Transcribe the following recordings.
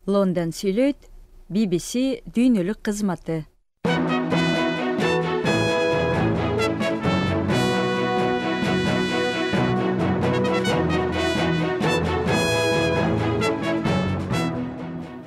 Лондон сүйлөйт, BBC дүйнөлүк кызматы.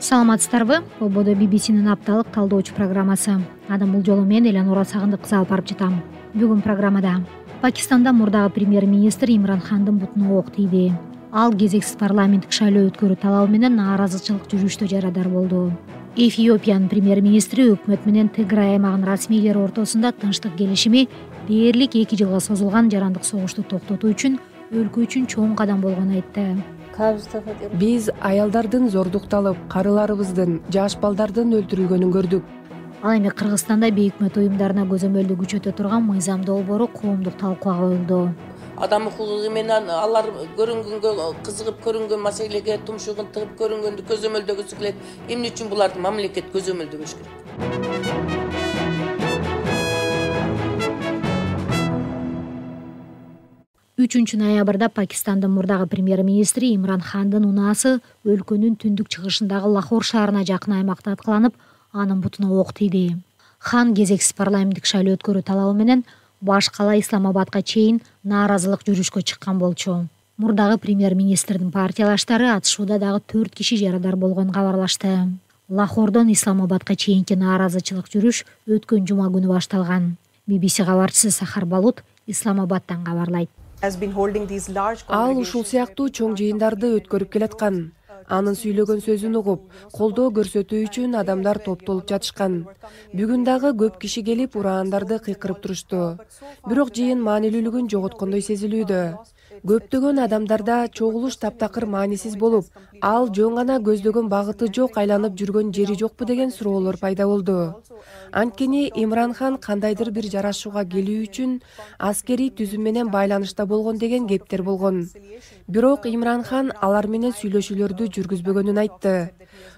Саламатсыздарбы? Ободо BBC'нин апталык талдоочу программасы. Анан бул жолу мен Эланура Сагындыккызы алып барып жатам. Бүгүн программада Пакистанда мурдагы премьер-министр Имран Хандын бутуна ок тийди. Ал кезексиз парламенттик шайлоо өткөрүү талабы менен нааразычылык жүрүштө жарадар болду. Эфиопиянын премьер-министри өкмөт менен Тиграй аймагынын расмийлери ортосунда тынчтык келишими дээрлик 2 жылга созулган жарандык согушту токтотуу үчүн өлкө үчүн чоң кадам болгонун айтты. Биз аялдардын зордукталып, карыларыбыздын, жаш балдардын өлтүрүлгөнүн көрдүк. Ал эми Кыргызстанда бейөкмөт уюмдарына көзөмөлдү күчөтө турган мыйзам долбоору коомдук талкууга коюлду. Адам укугу менен алар көрүнгөнгө, кызыгып көрүнгөн маселеге тумшугун тыгып көрүнгөндү көзөмөлдөгүсү келет. Эмне үчүн буларды мамлекет көзөмөлдөбөш керек? 3 ноябрда Пакистандын мурдагы премьер-министри Имран Хандын унаасы өлкөнүн түндүк чыгышындагы Лахор шаарына жакын аймакта аткыланып, анын бутуна ок тийди. Хан кезексиз парламенттик шайлоо өткөрүү талабы менен баш кала Исламабадка чейин нааразылык жүрүшкө чыккан болчу. Мурдагы премьер-министрдин партиялаштары атышууда дагы 4 киши жарадар болгонун кабарлашты. Лахордон Исламабадка чейинки нааразычылык жүрүш өткөн жума күнү башталган. BBC кабарчысы Сахар Балут Исламабадтан кабарлайт. Ал ушул сыяктуу чоң жыйындарды өткөрүп келаткан. Анын сүйлөгөн сөзүн угуп, колдоо көрсөтүү үчүн адамдар топтолуп жатышкан. Бүгүн дагы көп киши келип ураандарды кыйкырып турушту. Бирок жыйын маанилүүлүгүн жоготкондой сезилүүдө. Көптөгөн адамдарда чогулуш таптакыр маанисиз болуп, ал жөн гана көздөгөн багыты жок, айланып жүргөн жери жокпу деген суроолор пайда болду. Анткени Имран Хан кандайдыр бир жарашууга келүү үчүн аскерий түзүм менен байланышта болгон деген кептер болгон. Бирок Имран Хан алар менен сүйлөшүүлөрдү жүргүзбөгөнүн айтты.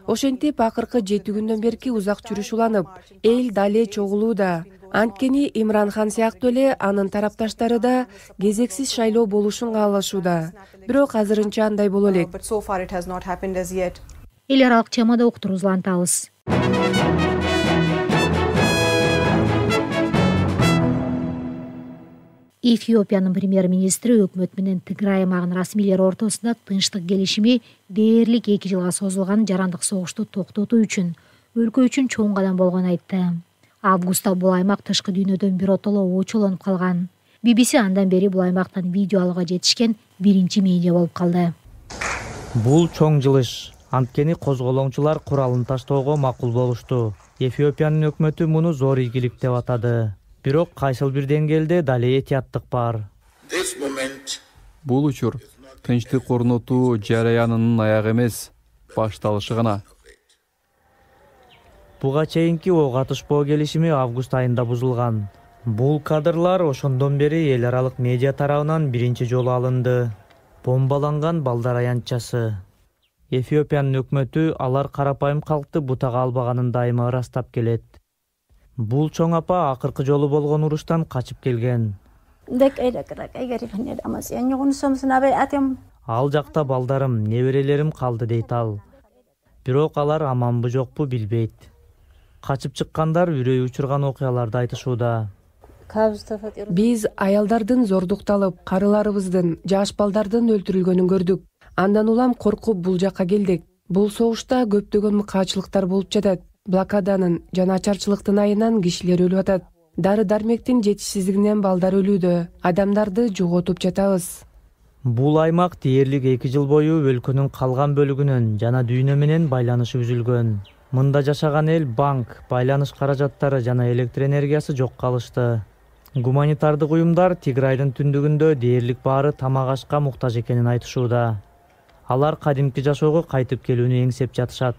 Ошентип акыркы 7 күндөн берки узак жүрүш уланып, эл дале чогулууда. Анткени Имран Хан сыяктуу эле анын тарапташтары да кезексиз шайлоо болушун каалашууда. Бирок азырынча андай боло элек. Эл аралык темада уктурубузду улантабыз. Эфиопиянын премьер-министри өкмөт менен Тиграй аймагынын расмийлери ортосунда тынчтык келишими дээрлик 2 жылга созулган жарандык согушту токтотуу үчүн өлкө үчүн чоң кадам болгонун айтты. Августта бул аймак тышкы дүйнөдөн биротоло очолонуп калган. BBC андан бери бул аймактан видео алууга жетишкен биринчи медиа болуп калды. Бул чоң жылыш. Анткени козголоңчулар куралын таштоого макул болушту. Эфиопиянын өкмөтү муну зор ийгилик деп атады. Бирок кайсыл бир деңгээлде дале этияттык бар. Бул учур тынчтык орнотуу жараянынын аягы эмес, башталышы гана. Буга чейинки ок атышпоо келишими август айында бузулган. Бул кадрлар ошондон бери эл аралык медиа тарабынан биринчи жолу алынды. Бомбаланган балдар аянтчасы. Эфиопиянын өкмөтү алар карапайым калкты бутага албаганын дайыма ырастап келет. Бул чоң апа акыркы жолу болгон уруштан качып келген. Ал жакта балдарым, неберелерим калды дейт ал. Бирок алар аманбы жокпу билбейт. Качып чыккандар үрөй учурган окуяларды айтышууда. Биз аялдардын зордукталып, карыларыбыздын, жаш балдардын өлтүрүлгөнүн көрдүк. Андан улам коркуп бул жакка келдик. Бул согушта көптөгөн мыкаачылыктар болуп жатат. Блокаданын жана ачарчылыктын айынан кишилер өлүп атат. Дары-дармектин жетишсиздигинен балдар өлүүдө. Адамдарды жоготуп жатабыз. Бул аймак дээрлик 2 жыл бою өлкөнүн калган бөлүгүнөн жана дүйнө менен байланышы үзүлгөн. Мында жашаган эл банк, байланыш каражаттары жана электр энергиясы жок калышты. Гуманитардык уюмдар Тиграйдын түндүгүндө дээрлик баары тамак ашка муктаж экенин айтышууда. Алар кадимки жашоого кайтып келүүнү эңсеп жатышат.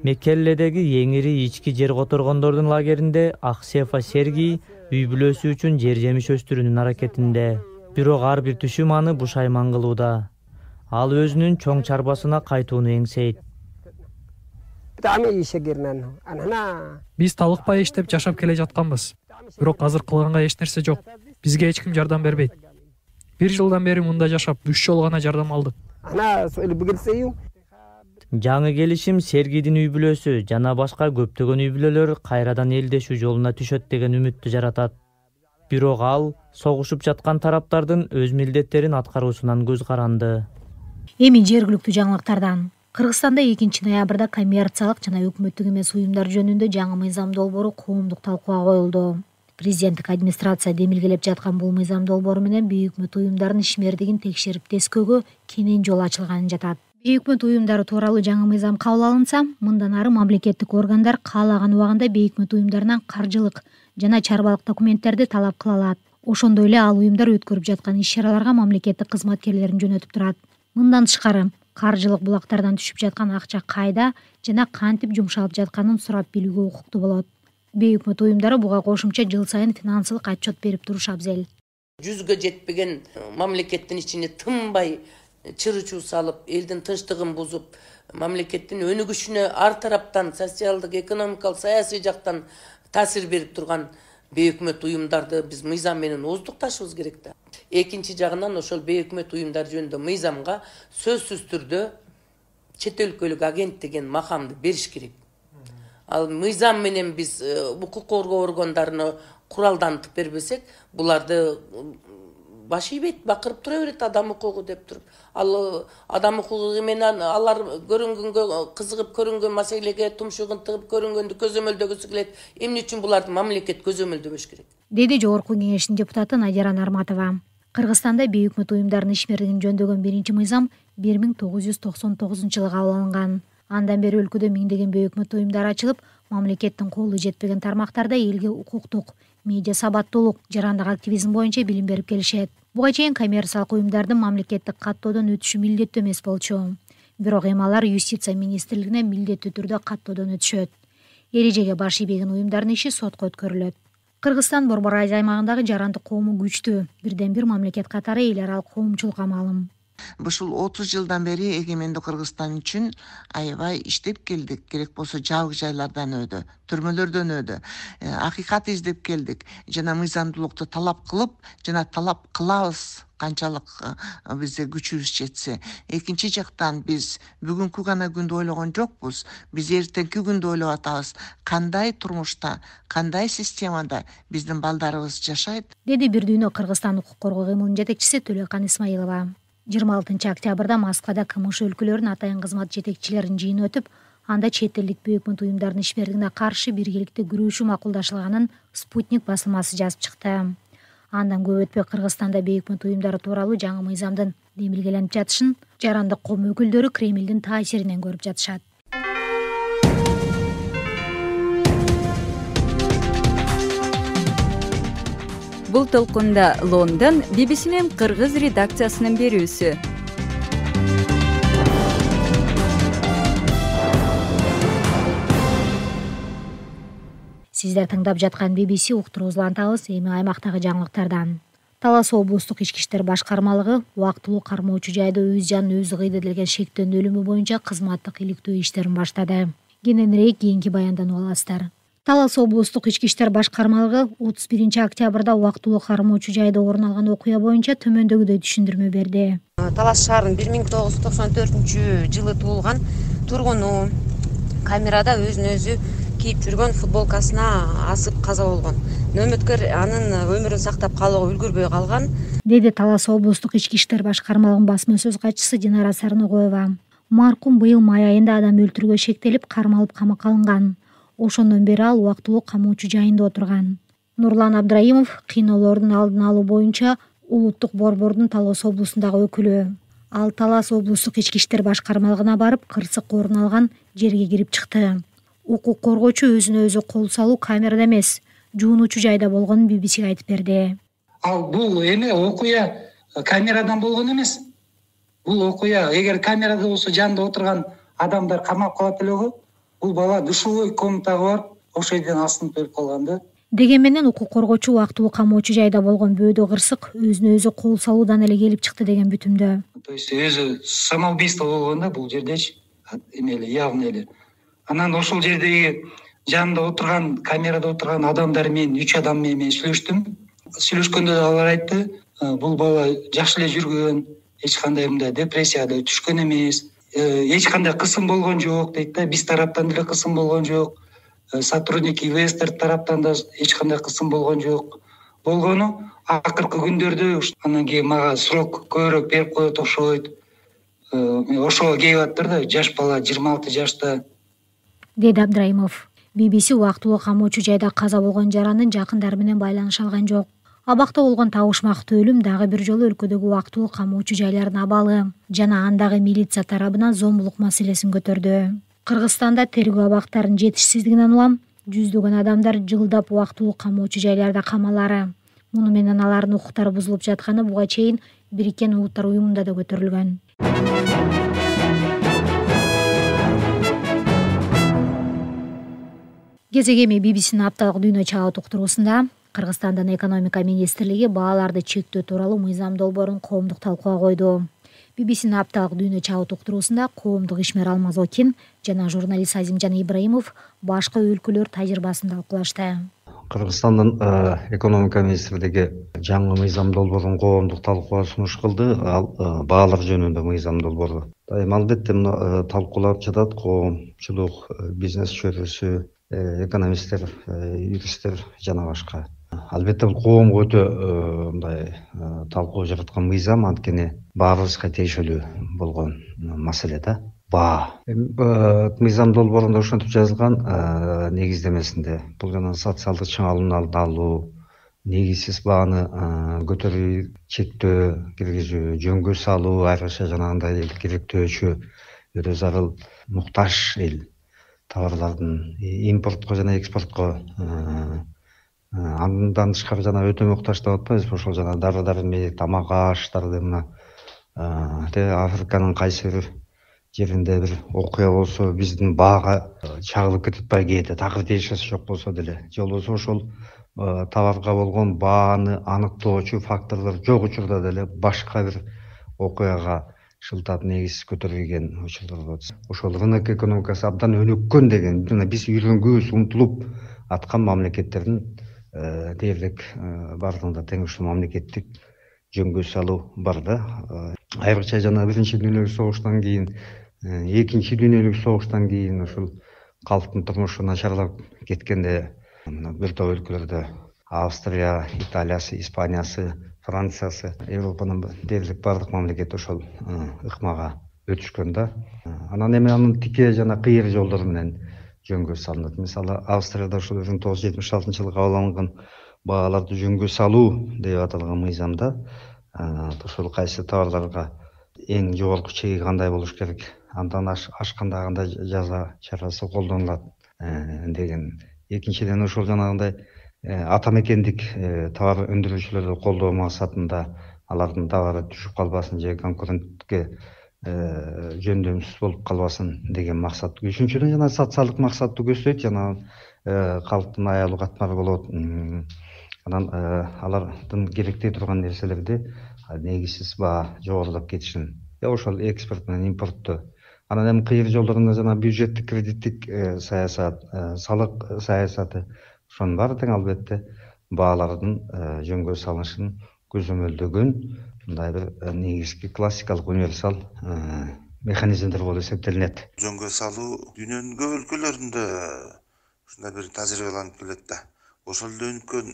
Меккелледеги эң ири ички жер которгондордун лагеринде Аксефа Сергий үй бүлөсү үчүн жер жемиш өстүрүүнүн аракетинде. Бирок ар бир түшүм аны бушайман кылууда. Ал өзүнүн чоң чарбасына кайтууну эңсейт. Биз талыкпай иштеп жашап келе жатканбыз. Бирок азыр кылганга эч нерсе жок. Бизге эч ким жардам бербейт. 1 жылдан бери мында жашап 3 жолу гана жардам алдык. Жаңы келишим Сергийдин үй бүлөсү жана башка көптөгөн үй бүлөлөр кайрадан элдешүү жолуна түшөт деген үмүттү жаратат. Бирок ал согушуп жаткан тараптардын өз милдеттерин аткаруусунан көз каранды. Эми жергиликтүү жаңылыктардан. Кыргызстанда 2 ноябрда коммерциялык жана өкмөттүк эмес уюмдар жөнүндө жаңы мыйзам долбоору коомдук талкууга коюлду. Президенттик администрация демилгелеп жаткан бул мыйзам долбоору менен бейөкмөт уюмдардын ишмердигин текшерип тескөөгө кенен жол ачылганын жатат. Бейөкмөт уюмдары тууралуу жаңы мыйзам кабыл алынса, мындан ары мамлекеттик органдар каалаган убагында бейөкмөт уюмдарынан каржылык жана чарбалык документтерди талап кыла алат. Ошондой эле ал уюмдар өткөрүп жаткан иш-чараларга мамлекеттик кызматкерлерин жөнөтүп турат. Мындан тышкары, каржылык булактардан түшүп жаткан акча кайда жана кантип жумшалып жатканын сурап билүүгө укуктуу болот. Бейөкмөт уюмдары буга кошумча жыл сайын финансылык отчет берип туруш абзел. 100гө жетпеген мамлекеттин ичине тынбай чырычуу салып, элдин тынчтыгын бузуп, мамлекеттин өнүгүшүнө ар тараптан социалдык, экономикалык, саясий жактан таасир берип турган бейөкмөт уюмдарды биз мыйзам менен ооздукташыбыз керек да. Экинчи жагынан ошол бейөкмөт уюмдар жөнүндө мыйзамга сөзсүз түрдө чет өлкөлүк агент деген макамды бериш керек. Ал мыйзам менен биз укук коргоо органдарына куралдантып бербесек, буларды баш ийбейт, бакырып тура берет адам укугу деп туруп. Ал адам укугу менен алар көрүнгөнгө, кызыгып көрүнгөн маселеге тумшугун тыгып көрүнгөндү көзөмөлдөгүсү келет. Эмне үчүн буларды мамлекет көзөмөлдөбөш керек? Деди Жогорку кеңештин депутаты Надира Нарматова. Кыргызстанда бейөкмөт уюмдардын ишмердигин жөндөгөн биринчи мыйзам 1999-жылы кабыл алынган. Андан бери өлкөдө миңдеген бейөкмөт уюмдар ачылып, мамлекеттин колу жетпеген тармактарда элге укуктук, медиа сабаттуулук, жарандык активизм боюнча билим берип келишет. Буга чейин коммерциялык уюмдардын мамлекеттик каттоодон өтүшү милдеттүү эмес болчу. Бирок эми алар юстиция министрлигине милдеттүү түрдө каттоодон өтүшөт. Эрежеге баш ийбеген уюмдардын иши сотко өткөрүлөт. Кыргызстан Борбор Айыл аймагындагы жарандык коому күчтүү, бирден бир мамлекет катары эл аралык коомчулукка маалым. Ушул 30 жылдан бери эгемендүү Кыргызстан үчүн аябай иштеп келдик. Керек болсо жабык жайлардан өдү, түрмөлөрдөн өдү. Акыйкат издеп келдик. Жана мыйзамдуулукту талап кылып, жана талап кылабыз канчалык бизде күчүбүз жетсе. Экинчи жактан биз бүгүнкү гана күндү ойлогон жокпуз. Биз эртеңки күндү ойлоп атабыз. Кандай турмушта, кандай системада биздин балдарыбыз жашайт? Деди Бир дүйнө Кыргызстан укук коргоо кыймылынын жетекчиси Төлөкан Исмаилова. 26 октябрда Москвада КМШ өлкөлөрүнүн атайын кызмат жетекчилеринин жыйыны өтүп, анда чет элдик бейөкмөт уюмдардын ишмердигине каршы биргеликте күрөшүү макулдашылганын Спутник басылмасы жазып чыкты. Андан көп өтпөй Кыргызстанда бейөкмөт уюмдары тууралуу жаңы мыйзамдын демилгеленип жатышын жарандык коом өкүлдөрү Кремлдин таасиринен көрүп жатышат. Бул толкунда Лондон BBC'нин кыргыз редакциясынын берүүсү. Сиздер тыңдап жаткан BBC уктуруубузду улантабыз. Эми аймактагы жаңылыктардан. Талас облустук ички иштер башкармалыгы убактылуу кармоочу жайда өз жанын өзү кыйды деген шектен өлүмү боюнча кызматтык иликтөө иштерин баштады. Кененирээк кийинки баяндан аласыздар. Талас облустук ички иштер башкармалыгы 31 октябрда убактылуу кармоочу жайда орун алган окуя боюнча төмөндөгүдөй түшүндүрмө берди. Талас шаарынын 1994-жылы туулган тургуну камерада өзүн өзү кийип жүргөн футболкасына асып каза болгон. Нөөмөткөр анын өмүрүн сактап калууга үлгүрбөй калган, деди Талас облустук ички иштер башкармалыгынын басма сөз катчысы Динара Сарногоева. Маркум быйыл май айында адам өлтүрүүгө шектелип, кармалып камакка алынган. Ошондон бери ал убактылуу камоочу жайында отурган. Нурлан Абдраимов кыйноолордун алдын алуу боюнча улуттук борбордун Талас облусундагы өкүлү. Ал Талас облустук ички иштер башкармалыгына барып, кырсык орун алган жерге кирип чыкты. Укук коргоочу өзүнө өзү кол салуу камерада эмес, жуунуучу жайда болгонун BBC'ге айтып берди. Ал бул эме окуя камерадан болгон эмес. Бул окуя эгер камерада болсо жанында отурган адамдар камап калат элеби, бул бала душевой комнатага барып, ошол жерден асынып өлүп калган да. Деген менен укук коргоочу убактылуу камоочу жайда болгон бөөдө кырсык өзүнө өзү кол салуудан эле келип чыкты деген бүтүмдө. То есть өзү самоубийство болгон да бул жердечи, эмели явный эле. Анан ошол жердеги жанында отурган, камерада отурган адамдар менен 3 адам менен сүйлөштүм. Сүйлөшкөндө алар айтты, бул бала жакшы эле жүргөн, эч кандай мындай депрессияга түшкөн эмес. эч кандай кысым болгон жок дейт да. Биз тараптан деле кысым болгон жок. Сотрудник инвестор тараптан да эч кандай кысым болгон жок. Болгону акыркы күндөрдө анан кийин мага срок көбүрөөк берип коет окшойт. Ошого келип атыптыр да, жаш бала 26 жашта, деди Абдрайымов. BBC убактылуу камоочу жайда каза болгон жарандын жакындары менен байланыша алган жок. Абакта болгон табышмактуу өлүм дагы бир жолу өлкөдөгү убактылуу камоочу жайлардын абалы жана андагы милиция тарабынан зомбулук маселесин көтөрдү. Кыргызстанда тергөө абактарынын жетишсиздигинен улам жүздөгөн адамдар жылдап убактылуу камоочу жайларда камалары. Муну менен алардын укуктары бузулуп жатканы буга чейин Бириккен Улуттар уюмунда да көтөрүлгөн. Кезегеми BBC'нин апталык дүйнө чагы уктуруусунда Кыргызстандын экономика министрлиги бааларды чектөө тууралуу мыйзам долбоорун коомдук талкууга койду. BBC'нин апталык дүйнө чагы уктуруусунда коомдук ишмер Алмаз Окин жана журналист Азимжан Ибраимов башка өлкөлөр тажрыйбасын талкуулашты. Кыргызстандын экономика министрлиги жаңы мыйзам долбоорун коомдук талкууга сунуш кылды. Ал баалар жөнүндө мыйзам долбоору. Албетте муну талкуулап жатат коомчулук, бизнес чөйрөсү, экономисттер, юристтер жана башка. Албетте бул коомго өтө мындай талкуу жараткан мыйзам, анткени баарыбызга тиешелүү болгон маселе да. Баа. Мыйзам долбоорунда ошентип жазылган негиздемесинде. Бул жана социалдык чыңалууларды алуу, негизсиз бааны көтөрүү, чектөө киргизүү, жөнгө салуу, айрыкча жанагындай керектөөчү өтө зарыл муктаж эл товарлардын импортко жана экспортко андан тышкары жана өтө муктаж деп атпайбызбы, ошол жана дары-дармек, тамак аштарды мына Африканын кайсы бир жеринде бир окуя болсо биздин баага чагылып кетип атпайбы кээде, такыр тиешеси жок болсо деле, же болбосо ошол товарга болгон бааны аныктоочу факторлор жок учурда деле башка бир окуяга шылтап негиз көтөрүлгөн учурлар болот. Ошол рынок экономикасы абдан өнүккөн деген, жана биз үйрөнгүбүз, умтулуп аткан мамлекеттердин дээрлик бардыгында теңештүү мамлекеттик жөнгө салуу бар да. Айрыкча жана биринчи дүйнөлүк согуштан кийин, экинчи дүйнөлүк согуштан кийин ушул калктын турмушу начарлап кеткенде мына бир топ өлкөлөрдө Австрия, Италиясы, Испаниясы, Франциясы, Европанын дээрлик бардык мамлекети ошол ыкмага өтүшкөн да. Анан эми анын тике жана кыйыр жолдору менен жөнгө салынат. Мисалы, Австрияда ошол 1976-жылы кабыл алынган бааларды жөнгө салуу деп аталган мыйзамда ошол кайсы товарларга эң жогорку чеги кандай болуш керек, андан ашканда кандай жаза чарасы колдонулат деген. Экинчиден ошол жанагындай ата мекендик товар өндүрүүчүлөрдү колдоо максатында алардын товары түшүп калбасын же конкурентке жөндөмсүз болуп калбасын деген максат. Үчүнчүдөн жана социалдык максатты көздөйт, жана калктын аялуу катмары болот. Анан алардын керектей турган нерселерди негизсиз баа жогорулап кетишин. Ошол экспорт менен импортту. Анан эми кыйыр жолдорунда жана бюджеттик кредиттик саясат, салык саясаты, ошонун баары тең албетте баалардын жөнгө салынышын көзөмөлдөгөн мындай бир негизги классикалык универсал механизмдер болуп эсептелинет. Жөнгө салуу дүйнөнүн көп өлкөлөрүндө ушундай бир тажрыйбаланып келет да. Ошол өнүккөн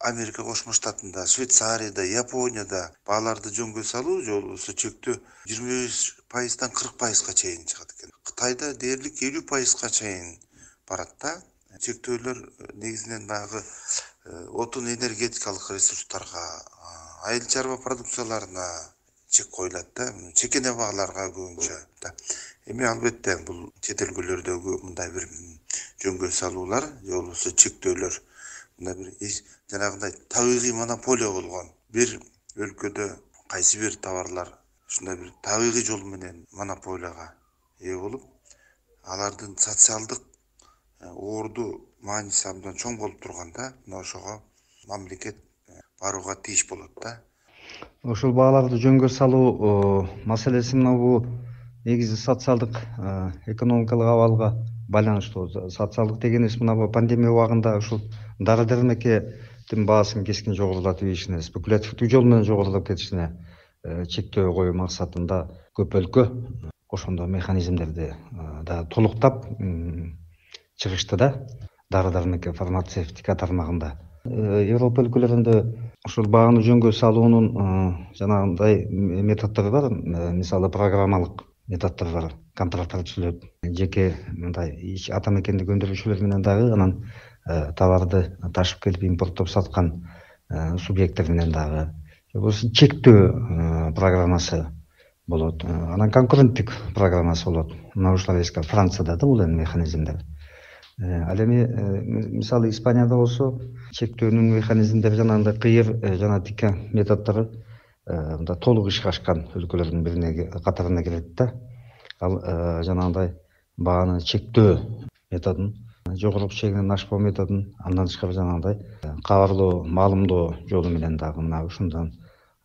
Америка Кошмо Штатында, Швейцарияда, Японияда бааларды жөнгө салуу же болбосо чектөө 25%-дан 40%-га чейин чыгат экен. Кытайда дээрлик 50%-га чейин барат да. Чектөөлөр негизинен баягы отун энергетикалык ресурстарга, айыл чарба продукцияларына чек коюлат да, чекене бааларга көбүнчө да. Эми албетте бул чет өлкөлөрдөгү мындай бир жөнгө салуулар же болбосо чектөөлөр мындай бир жанагындай табигый монополия болгон бир өлкөдө кайсы бир товарлар ушундай бир табигый жол менен монополияга ээ болуп, алардын социалдык орду мааниси абдан чоң болуп турганда, мына ошого мамлекет барууга тийиш болот да. Ошол бааларды жөнгө салуу маселеси мына бул негизи социалдык экономикалык абалга байланыштуу. Социалдык дегенибиз мына пандемия убагында ушул дары-дармектин баасын кескин жогорулатып ийишине, спекулятивдик жол менен жогорулап кетишине чектөө коюу максатында көп өлкө ошондо механизмдерди да толуктап чыгышты да, дары-дармек фармацевтика тармагында. Европа өлкөлөрүндө ушул бааны жөнгө салуунун жанагындай методдору бар. Мисалы программалык методдор бар. Контракттар түзүлөт. Жеке мындай ата мекендик өндүрүүчүлөр менен дагы, анан товарды ташып келип импорттоп саткан субъекттер менен дагы. Болсо чектөө программасы болот. Анан конкуренттик программасы болот. Мына ушулар эски Францияда да бул механизмдер. Ал эми мисалы Испанияда болсо чектөөнүн механизмдери жанагындай кыйыр жана тикке методдору мында толук ишке ашкан өлкөлөрдүн бирине катарына кирет да. Ал жанагындай бааны чектөө методун, жогорку чегинен ашпоо методун, андан тышкары жанагындай кабарлоо, маалымдоо жолу менен дагы мына ушундан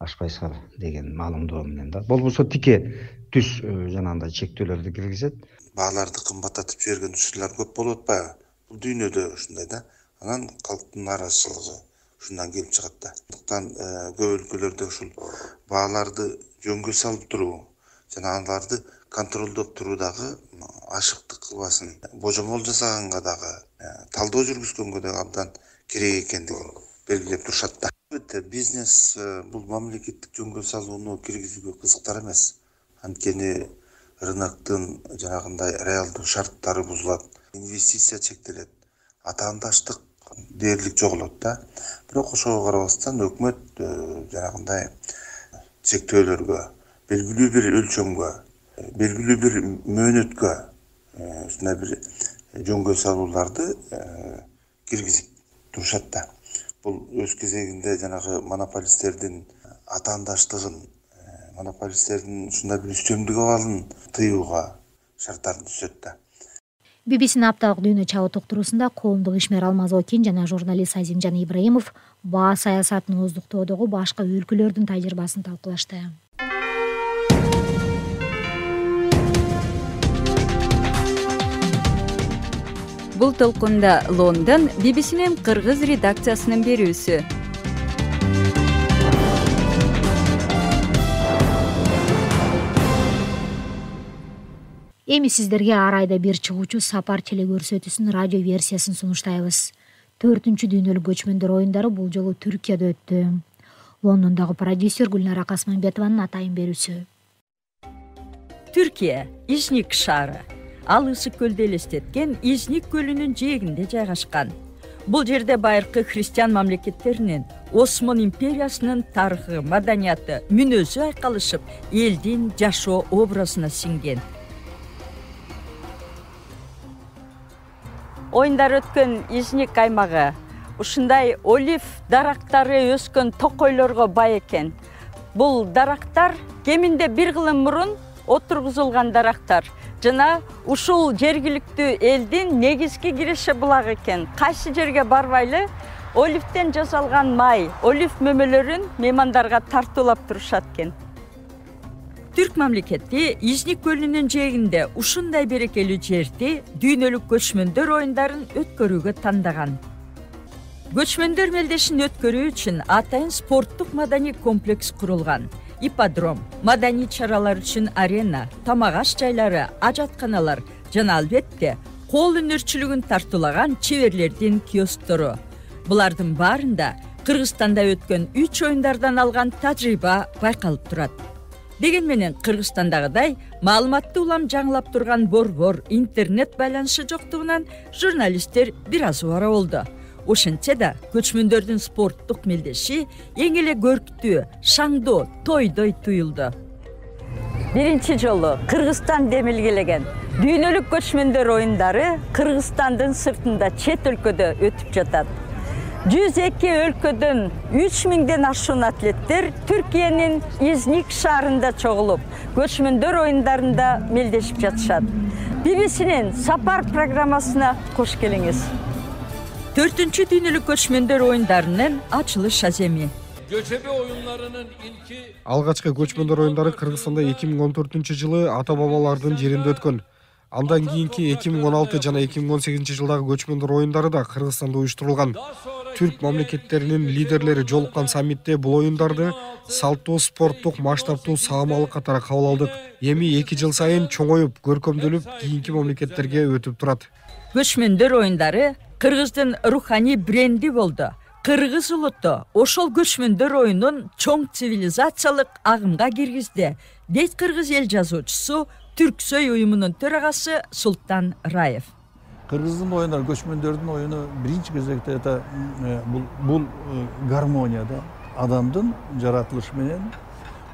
ашпайсыңар деген маалымдоо менен да. Болбосо тике түз жанагындай чектөөлөрдү киргизет. Бааларды кымбаттатып жиберген учурлар көп болуп атпайбы? Бул дүйнөдө ушундай да. Анан калктын нааразычылыгы ушундан келип чыгат да. Андыктан көп өлкөлөрдө ушул бааларды жөнгө салып туруу жана аларды контролдоп туруу дагы ашыктык кылбасын, божомол жасаганга дагы, талдоо жүргүзгөнгө дагы абдан керек экендигин белгилеп турушат да. Албетте бизнес бул мамлекеттик жөнгө салууну киргизүүгө кызыктар эмес. Анткени рыноктун жанагындай реалдуу шарттары бузулат, инвестиция чектелет, атаандаштык дээрлик жоголот да. Бирок ошого карабастан өкмөт жанагындай чектөөлөргө, белгилүү бир өлчөмгө, белгилүү бир мөөнөткө ушундай бир жөнгө салууларды киргизип турушат да. Бул өз кезегинде жанагы монополисттердин атаандаштыгын, монополисттердин ушундай бир үстөмдүк абалын тыюуга шарттарды түзөт да. BBC-nin апталык дүйнө чабыт уктуруусунда коомдук ишмер Алмаз Окин жана журналист Азимжан Ибраимов баа саясатын оздуктоодогу башка өлкөлөрдүн тажрыйбасын талкуулашты. Бул толкунда Лондон BBC-nin кыргыз редакциясынын берүүсү. Эми сиздерге ар айда бир чыгуучу сапар телекөрсөтүүсүнүн радио версиясын сунуштайбыз. 4-чү дүйнөлүк көчмөндөр оюндары бул жолу Түркияда өттү. Лондондогу продюсер Гүлнара Касманбетованын атайын берүүсү. Түркия Изник шаары. Ал Ысык көлдү элестеткен Изник көлүнүн жээгинде жайгашкан. Бул жерде байыркы христиан мамлекеттеринин, Осман империясынын тарыхы, маданияты, мүнөзү айкалышып, элдин жашоо образына сиңген. Оюндар өткөн Изник аймагы ушундай олив дарактары өскөн токойлорго бай экен. Бул дарактар кеминде бир кылым мурун отургузулган дарактар жана ушул жергиликтүү элдин негизги киреше булагы экен. Кайсы жерге барбайлы оливден жасалган май, олив мөмөлөрүн меймандарга тартуулап турушат экен. Түрк мамлекети Изник көлүнүн жээгинде ушундай берекелүү жерди дүйнөлүк көчмөндөр оюндарын өткөрүүгө тандаган. Көчмөндөр мелдешин өткөрүү үчүн атайын спорттук маданий комплекс курулган. Ипподром, маданий чаралар үчүн арена, тамак аш жайлары, ажатканалар жана албетте кол өнөрчүлүгүн тартуулаган чеберлердин киосктору. Булардын баарында Кыргызстанда өткөн 3 оюндардан алган тажрыйба байкалып турат. Деген менен Кыргызстандагыдай маалыматты улам жаңылап турган борбор, интернет байланышы жоктугунан журналисттер бир аз убара болду. Ошентсе да көчмөндөрдүн спорттук мелдеши эң эле көрктүү, шаңдоо, тойдой туюлду. Биринчи жолу Кыргызстан демилгелеген дүйнөлүк көчмөндөр оюндары Кыргызстандын сыртында чет өлкөдө өтүп жатат. 102 өлкөдөн 3000ден ашуун атлеттер Түркиянын Изник шаарында чогулуп, көчмөндөр оюндарында мелдешип жатышат. BBC-нин сапар программасына кош келиңиз. 4-чү дүйнөлүк көчмөндөр оюндарынын ачылыш аземи. Göçebe oyunlarının ilki Алгачкы көчмөндөр оюндары Кыргызстанда 2014-жылы ата-бабалардын жеринде өткөн. Андан кийинки 2016 жана 2018 жылдагы көчмөндөр оюндары да Кыргызстанда уюштурулган. түрк мамлекеттеринин лидерлери жолуккан саммитте бул оюндарды салттуу, спорттук, масштабтуу, саамалык катары кабыл алдык. Эми 2 жыл сайын чоңоюп, көркөмдөлүп, кийинки мамлекеттерге өтүп турат. Көчмөндөр оюндары Кыргыздын руханий бренди болду. Кыргыз улуту ошол көчмөндөр оюнун чоң цивилизациялык агымга киргизди, дейт кыргыз эл жазуучусу, Түрксөй уюмунун төрагасы Султан Раев. Кыргыздын оюндары, көчмөндөрдүн оюну биринчи кезекте бул гармонияда адамдын жаратылышы менен,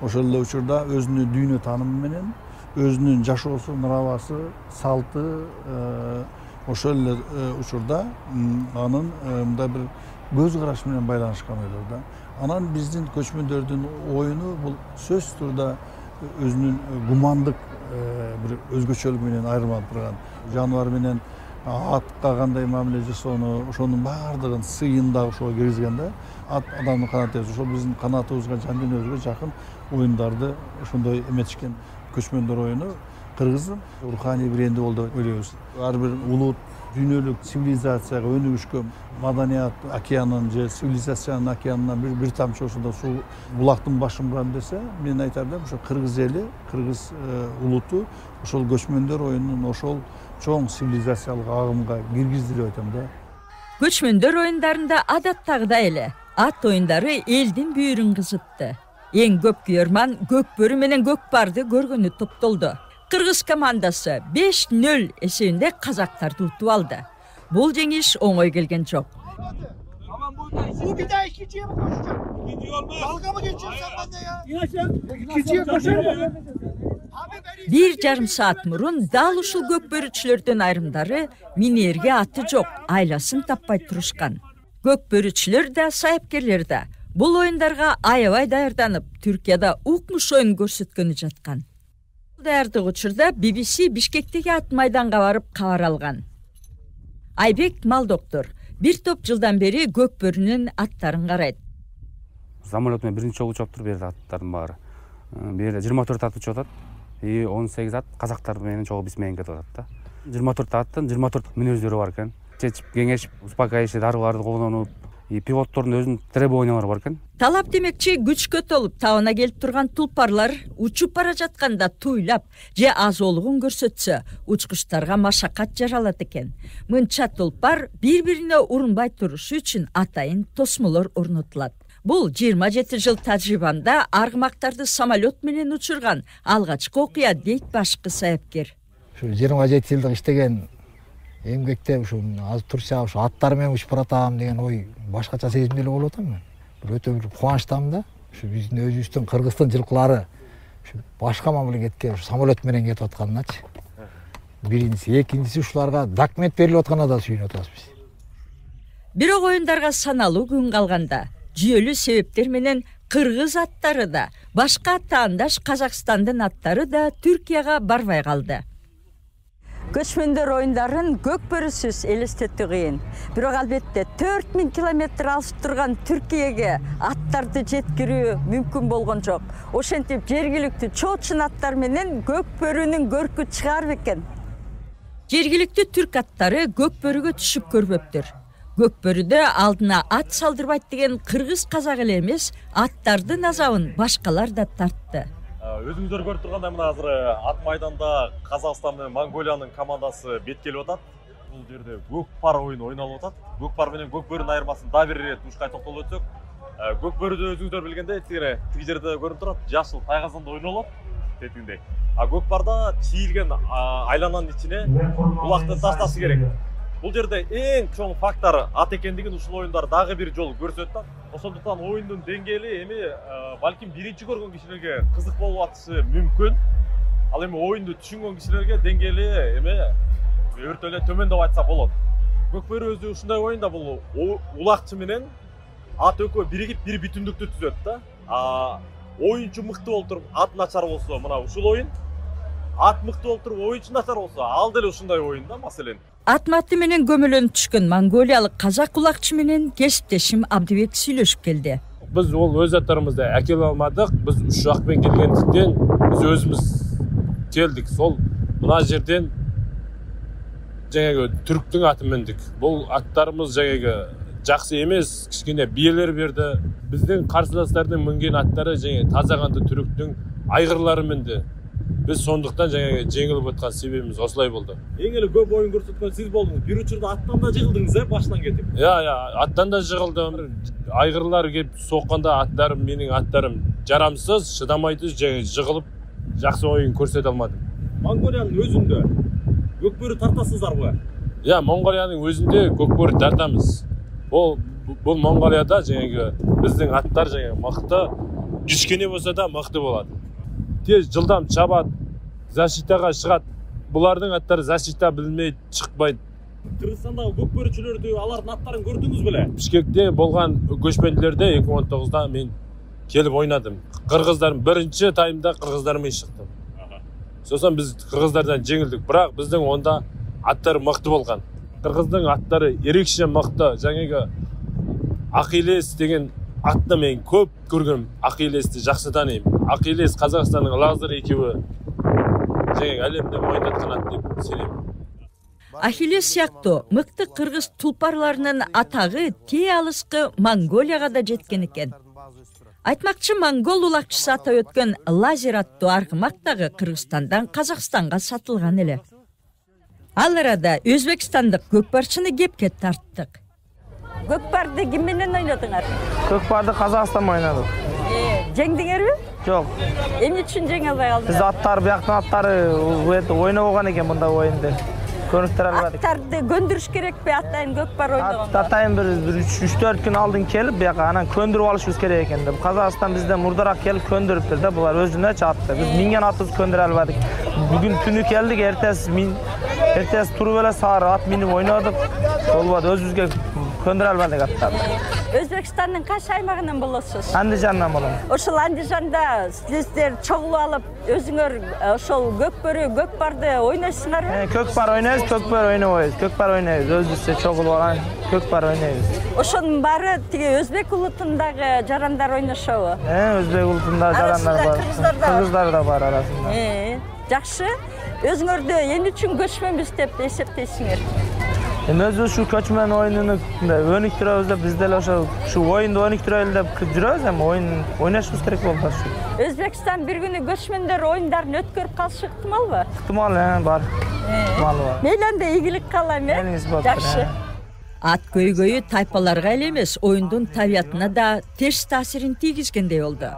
ошол эле учурда өзүнүн дүйнө таанымы менен, өзүнүн жашоосу, нравасы, салты, ошол эле учурда анын мындай бир көз карашы менен байланышкан ойлор да. Анан биздин көчмөндөрдүн оюну бул сөзсүз турда өзүнүн гумандык бир өзгөчөлүгү менен айырмаланып турган. Жаныбар менен атка кандай мамиле жасоону, ошонун баардыгын сыйын да ошого киргизген да. Ат адамдын канаты, ошол биздин канатыбызга, жан дүйнөбүзгө жакын оюндарды ошондой эметишкен. Көчмөндөр оюну Кыргыздын руханий бренди болду деп ойлойбуз. Ар бир улут дүйнөлүк цивилизацияга өнүгүшкөн маданият океанын же цивилизациянын океанынан бир тамчы ошондо суу булактын башын бурам десе, мен айтар элем, ошо кыргыз эли, кыргыз улуту ошол көчмөндөр оюнунун ошол чоң цивилизациялык агымга киргизди деп айтам да. Көчмөндөр оюндарында адаттагыдай эле ат оюндары элдин бүйүрүн кызытты. Эң көп күйөрман Көкбөрү менен Көкпарды көргөнү топтолду. Кыргыз командасы 5-0 эсебинде казактарды утуп алды. Бул жеңиш оңой келген жок. Bu bir daha ikinciye mi koşacak? İkinci olmaz. Dalga mı geçiyorsun sen bende ya? İkinciye koşar. Bir жарым саат мурун дал ушул көкбөрүчүлөрдүн айрымдары минерге аты жок, айласын таппай турушкан. Көкбөрүчүлөр да, сайыпкерлер да бул оюндарга аябай даярданып, Түркияда укмуш оюн көрсөткөнү жаткан. Даярдык учурда BBC Бишкектеги ат майданга барып кабар алган. Айбек Малдоктор бир топ жылдан бери Көкбөрүнүн аттарын карайт. Самолет менен биринчи жолу учуп туруп берди аттардын баары. Бул жерде 24 ат учуп атат. 18 ат казактар менен чогуу биз менен кетип атат да. 24 аттын 24 мүнөздөрү бар экен. Чечип, кеңешип, успокаивающий дарыларды колдонуп, пилоттордун өзүнүн требованиялары бар экен. Талап демекчи күчкө толуп табына келип турган тулпарлар учуп бара жатканда туйлап же азоолугун көрсөтсө, учкучтарга машакат жаралат экен. Мынча тулпар бири-бирине урунбай турушу үчүн атайын тосмолор орнотулат. Бул 27 жыл тажрыйбамда аргымактарды самолет менен учурган алгачкы окуя дейт башкы сайыпкер. Ушу 27 жылдык иштеген эмгекте ушу азыр турса ушу аттар менен учуп баратам деген ой башкача сезимде эле болуп атам мен. Өтө бир кубанычтамын да. Ушу биздин өзүбүздүн Кыргыздын жылкылары ушу башка мамлекетке самолет менен кетип атканычы. Биринчиси, экинчиси ушуларга документ берилип атканына да сүйүнүп атабыз биз. Бирок оюндарга саналуу күн калганда жүйөлүү себептер менен кыргыз аттары да, башка таандаш Казакстандын аттары да Түркияга барбай калды. Көчмөндөр оюндарын Көкбөрүсүз элестетүү кыйын. Бирок албетте 4000 километр алысып турган Түркияга аттарды жеткирүү мүмкүн болгон жок. Ошентип жергиликтүү чоочун аттар менен Көкбөрүнүн көркү чыгар бекен. Жергиликтүү түрк аттары Көкбөрүгө түшүп көрбөптүр. Көкбөрүдө алдына ат салдырбайт деген кыргыз казак эле эмес, аттардын азабын башкалар да тартты. Өзүңүздөр көрүп тургандай мына азыр ат майданда Казакстан менен Монголиянын командасы бет келип атат. Бул жерде Көкпар оюну ойналып атат. Көкпар менен Көкбөрүнүн айырмасын да бир ирет ушкай токтолуп өтсөк, Көкбөрүдө өзүңүздөр билгендей тиги жерде көрүнүп турат, жашыл тайгазында ойнолот тетиндей. А Көкпарда чийилген айлананын ичине булакты ташташы керек. Бул жерде эң чоң фактор ат экендигин ушул оюндар дагы бир жолу көрсөттү. Ошондуктан оюндун деңгээли эми балким биринчи көргөн кишилерге кызык болуп атышы мүмкүн. Ал эми оюнду түшүнгөн кишилерге деңгээли эми өртө эле төмөн деп айтса болот. Көкбөрү өзү ушундай оюнда бул улакчы менен ат экөө биригип бир бүтүндүктү түзөт да. Оюнчу мыкты болуп туруп ат начар болсо, мына ушул оюн. Ат мыкты болуп туруп оюнчу начар болсо, ал деле ушундай оюн да, маселен. Атматы менен көмөлөнүп түшкөн монголиялык казак улакчы менен кесиптешим Абдыбек сүйлөшүп келди. Биз ол өз аттарыбызды әкеле алмадык. Биз уш жакпен келгендиктен биз өзүбүз келдик. Сол мына жерден жаңағы түрктүн аты мендик. Бул аттарыбыз жаңағы жакшы эмес, кичине биелер берди. Биздин карсыластардын минген аттары жаңы таза канды түрктүн айгырлары минди. Biz сондуктан жаңы жеңилип аткан себебибиз осулай болду. Эң эле көп оюн көрсөткөн сиз болдуңуз. Бир учурда аттан да жыгылдыңыз, башынан кетип. Аттан да жыгылдым. Айгырлар келип сокканда аттарым, менин аттарым жарамсыз, шыдамайды, жыгылып жакшы оюн көрсөтө алмадым. Монголиянын өзүндө көкбөрү тартасыздарбы? Монголиянын өзүндө көкбөрү тартамыз. Бул Монголияда жаңы биздин аттар жаңы мыкты, кичкене болсо да мыкты болот. Тез жылдам чабат, защитага чыгат. Булардын аттары защита билмейт, чыкпайт. Кыргызстандагы көкбөрүчүлөрдү, алардын аттарын көрдүңүз беле? Бишкекте болгон көчмөндүлөрдө 2019-да мен келип ойнадым. Кыргыздардын биринчи таймда кыргыздар менен чыктым. Сосон биз кыргыздардан жеңилдик, бирок биздин онда аттар мыкты болгон. Кыргыздын аттары эрекче мыкты. Жаңыгы Акилес деген атты мен көп көргөм. Акилести жакшы тааныйм. Акилес Казакстандын Лазер экөөбү жаңы әлемде мойндаткан ат деп сенем. Ахиллес сыяктуу мыкты кыргыз тулпарларынын атагы тээ алыскы Монголияга да жеткен экен. Айтмакчы, монгол улакчысы атап өткөн Лазер аттуу аргымак дагы Кыргызстандан Казакстанга сатылган эле. Ал арада Өзбекстандык көкпарчыны кепке тарттык. Көкпарды ким менен ойнодуңар? Көкпарды Казакстан менен ойнодук. Жеңдиңерби? Жок. Эмне үчүн жеңе албай калдыңар? Биз аттар бияктын аттары ойнобогон экен мында оюнду. Көрүктөр албадык. Аттарды көндүрүш керекпи? Атайын көкпар ойногон. Атайын бир 3-4 күн алдын келип, бияка анан көндүрүп алышыбыз керек экен деп. Казакстан бизден мурдараак келип көндүрүптүр да, булар өзүнө чатты. Биз минген атыбызды көндүрө албадык. Бүгүн түнү келдик, эртеси туруп эле саар ат минип ойнодук. Болбоду, өзүбүзгө көндүрө албадык аттарды. Өзбекстандын кайсы аймагынан болосуз? Андижандан болом. Ошол Андижанда сиздер чогулуп алып, өзүңөр ошол көкпарды ойнойсуңарбы? Көкпар ойнойбуз, көкпөр ойнобойбуз. Көкпар ойнойбуз, өзүбүзчө чогулуп алган көкпар ойнойбуз. Ошонун баары тиги өзбек улутундагы жарандар ойношобу? Өзбек улутундагы жарандар бар. Кыргыздар да бар арасында. Жакшы. Өзүңөрдү эмне үчүн көчмөнбүз деп эсептейсиңер? Өзүбүз ушу көчмөн оюнуну өнүктүрөбүз деп, биз деле ушу оюнду өнүктүрөлү деп жүрөбүз, эми оюн ойношубуз керек болду ушу. Өзбекстан бир күнү көчмөндөр оюндарын өткөрүп калышы ыктымалбы? Ыктымал, бар. Ыктымалы бар. Мейли анда ийгилик каалайм, Жакшы. Ат көйгөйү тайпаларга эле эмес, оюндун табиятына да терс таасирин тийгизгендей болду.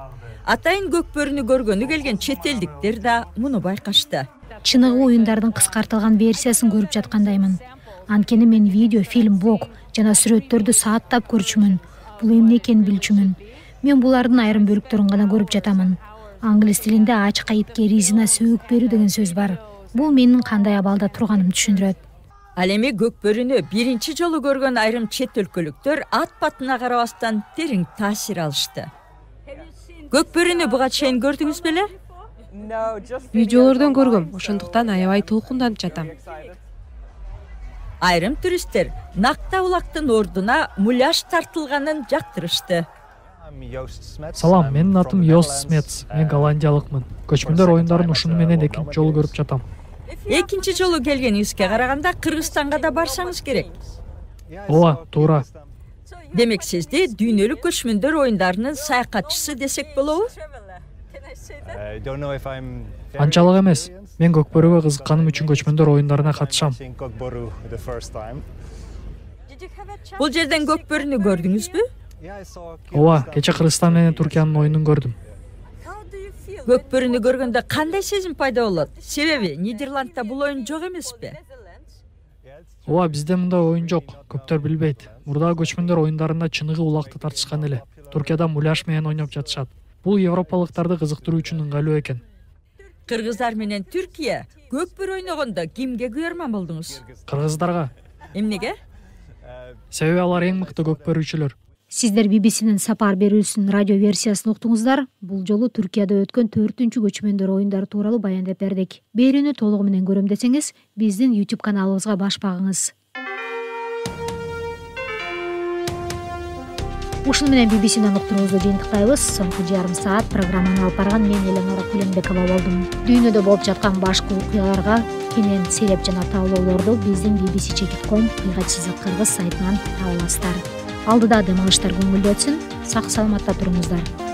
Атайын көкбөрүнү көргөнү келген чет элдиктер да муну байкашты. Чыныгы оюндардын кыскартылган версиясын көрүп жаткандаймын. Анткени мен видео, фильм, блог жана сүрөттөрдү сааттап көрчүмүн. Бул эмне экенин билчүмүн. Мен булардын айрым бөлүктөрүн гана көрүп жатамын. Англис тилинде ачка итке резина сөөк берүү деген сөз бар. Бул менин кандай абалда турганымды түшүндүрөт. Ал эми көкбөрүнү биринчи жолу көргөн айрым чет өлкөлүктөр ат батына карабастан терең таасир алышты. Көкбөрүнү буга чейин көрдүңүз беле? Видеолордон көргөм, ошондуктан аябай толкунданып жатам. Айрым туристтер Накта улактын ордуна муляж тартылганын жактырышты. Салам, менин атым Йос Смец. Мен голландиялыкмын. Көчмөндөр оюндарын ушуну менен экинчи жолу көрүп жатам. Экинчи жолу келгениңизге караганда Кыргызстанга да барсаңыз керек. Ооба, туура. Демек сизди дүйнөлүк көчмөндөр оюндарынын саякатчысы десек болобу? Анчалык эмес. Мен көкбөрүгө кызыкканым үчүн көчмөндөр оюндарына катышам. Бул жерден көкбөрүнү көрдүңүзбү? Ооба, кече Кыргызстан менен Туркиянын оюнун көрдүм. Көкбөрүнү көргөндө кандай сезим пайда болот? Себеби Нидерландда бул оюн жок эмеспи? Ооба, бизде мындай оюн жок, көптөр билбейт. Мурдагы көчмөндөр оюндарында чыныгы улакты тартышкан эле. Туркияда муляж менен ойноп жатышат. Бул европалыктарды кызыктыруу үчүн ыңгайлуу экен. Кыргыздар менен Түркия көкбөр ойногондо кимге күйөрман болдуңуз? Кыргыздарга. Эмнеге? Себеби алар эң мыкты көкбөрүүчүлөр. Сиздер BBC-нин сапар берүүсүнүн радио версиясын уктуңуздар. Бул жолу Түркияда өткөн 4-үнчү көчмөндөр оюндары тууралуу баяндап бердик. Берүүнү толугу менен көрөм десеңиз, биздин YouTube каналыбызга баш багыңыз. Ушуну менен BBC-ден уктуруубузду жыйынтыктайбыз. Соңку жарым саат программаны алып барган мен Эленора Кулембекова болдум. Дүйнөдө болуп жаткан башкы окуяларга кенен сереп жана таалоолорду биздин bbc.com /кыргыз сайтынан таба аласыздар. алдыда дем алыштар көңүлдүү өтсүн, сак саламатта туруңуздар.